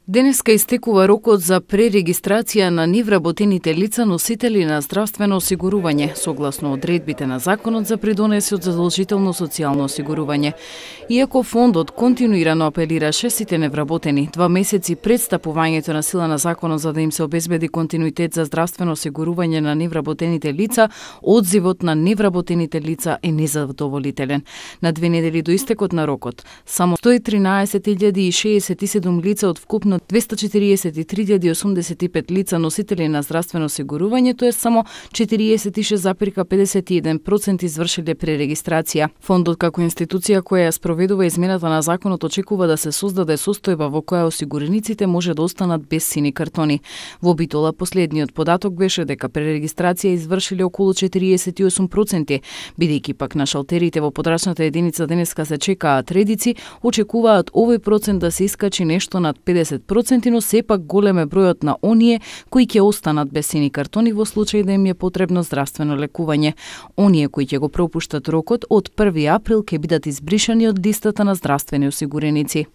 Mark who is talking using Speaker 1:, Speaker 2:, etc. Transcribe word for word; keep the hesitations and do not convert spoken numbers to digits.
Speaker 1: Денеска истекува рокот за пререгистрација на невработените лица носители на здравствено осигурување, согласно одредбите на Законот за придонеси од задолжително социјално осигурување. Иако фондот континуирано апелираше сите невработени два месеци пред стапувањето на сила на Законот за да им се обезбеди континуитет за здравствено осигурување на невработените лица, одзивот на невработените лица е незадоволителен. На две недели до истекот на рокот, само сто и тринаесет илјади и шеесет и седум лица од вкупно двесте четириесет и три илјади осумдесет и пет лица носители на здравствено осигурување, тоа е само четириесет и шест зарез педесет и еден проценти извршиле пререгистрација. Фондот како институција која ја спроведува измената на законот очекува да се создаде состојба во која осигурениците може да останат без сини картони. Во Битола последниот податок беше дека пререгистрација извршиле околу четириесет и осум проценти, бидејќи пак на шалтерите во подрачната единица денеска се чекаат редици, очекуваат овој процент да се искачи нешто над педесет проценти, но сепак голем е бројот на оние кои ќе останат без сини картони во случај да им е потребно здравствено лекување. Оние кои ќе го пропуштат рокот од први април ќе бидат избришани од листата на здравствени осигуреници.